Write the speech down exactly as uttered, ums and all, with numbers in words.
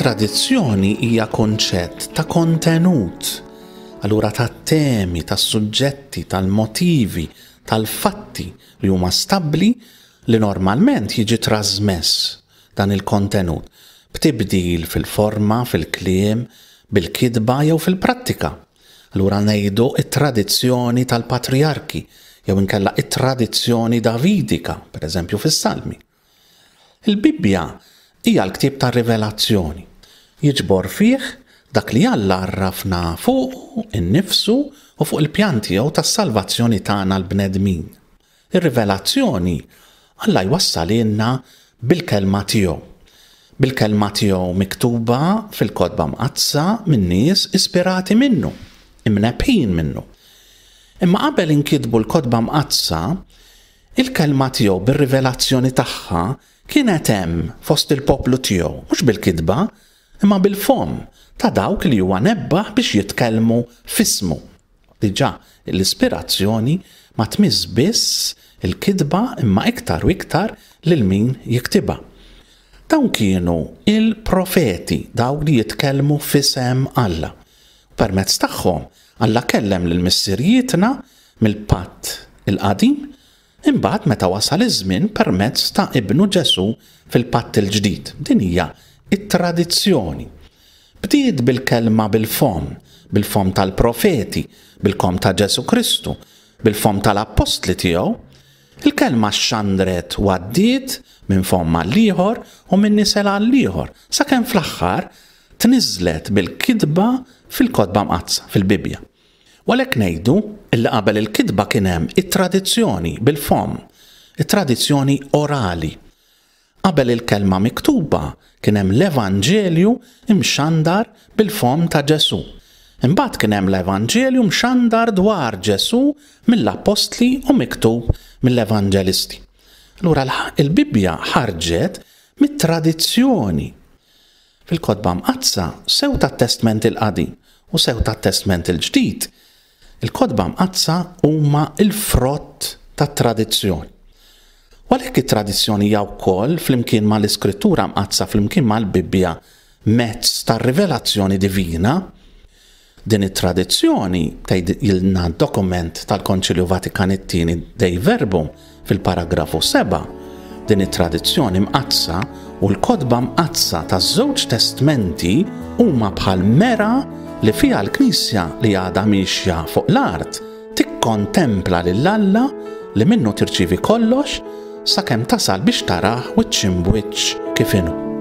It-tradizzjoni hija konċett ta' kontenut, allura ta' temi, ta' suġġetti, tal-motivi, tal-fatti li huma stabbli li normalment jiġi trasmess dan il-kontenut b'tibdil fil-forma, fil-kliem, bil-kitba jew fil-prattika. Allura ngħidu it-tradizzjoni tal-patrijarki jew inkella it-tradizzjoni davidika, per eżempju fis-Salmi. Il-Bibbja hija l-ktieb tar-Rivelazzjoni. Jiġbor fih dak li Alla għarrafna fuq innifsu u fuq il-pjan tiegħu tas-salvazzjoni tagħna l-bnedmin. Ir-rivelazzjoni Alla jwassalilna bil-kelma tiegħu. Bil-kelma tiegħu miktuba fil-kotba mqaddsa minn nies ispirati minnu, imnebbħin minnu. Imma qabel inkitbu l-kotba mqaddsa, il-kelma tiegħu bir-rivelazzjoni tagħha kienet hemm fost il-poplu tiegħu, mhux bil-kitba, imma bil-fomm ta' dawk li huwa nebbaħ biex jitkellmu f'ismu. Diġà l-ispirazzjoni ma tmiss biss il-kitba imma iktar u iktar lil min jiktibha. Dawn kienu il-profeti, dawk li jitkellmu f'isem Alla. Permezz tagħhom Alla kellem lil missirijietna mill-patt il-qadim, imbagħad meta wasal iż-żmien permezz ta' ibnu Ġesù fil-patt il-ġdid. Din hija it-tradizzjoni. Bdiet bil-kelma bil-fomm, bil-fomm tal-profeti, bil-fomm ta' Ġesù Kristu, bil-fomm tal-appostli tiegħu. Il-kelma xxandret u għaddiet minn fomm għall-ieħor u minn nisel għall-ieħor, sakemm fl-aħħar tniżlet bil-kitba fil-kotba mqaddsa, fil-Bibbja. U għalhekk ngħidu illi qabel il-kitba kien hemm it-tradizzjoni bil-fomm, it-tradizzjoni orali. Qabel il-kelma miktuba kien hemm l-Evanġelju imxandar bil-fomm ta' Ġesù. Imbagħad kien hemm l-Evanġelju mxandar dwar Ġesù mill-appostli u miktub mill-evanġelisti. Allura il-Bibbja ħarġet mit-tradizzjoni. Fil-kotba mqaddsa sew tat-Testment il-Qadim u sew tat-Testment il-Ġdid, il-kotba mqaddsa huma l-frott tat-tradizzjoni. U għalhekk it-tradizzjoni hija wkoll flimkien mal-Iskrittura mqaddsa, flimkien mal-Bibbja, mezz tar-rivelazzjoni divina. Din it-tradizzjoni tgħidilna dokument tal-Konċilju Vatikan it-tieni Dei Verbum fil-paragrafu seba', din it-tradizzjoni mqaddsa u l-kotba mqaddsa taż-żewġ testmenti huma bħal mera li fiha l-Knisja li għadha miexja fuq l-art tikkontempla lil Alla li minnu tirċievi kollox sakemm tasal biex tarah wiċċ imbwiċċ kif inhu.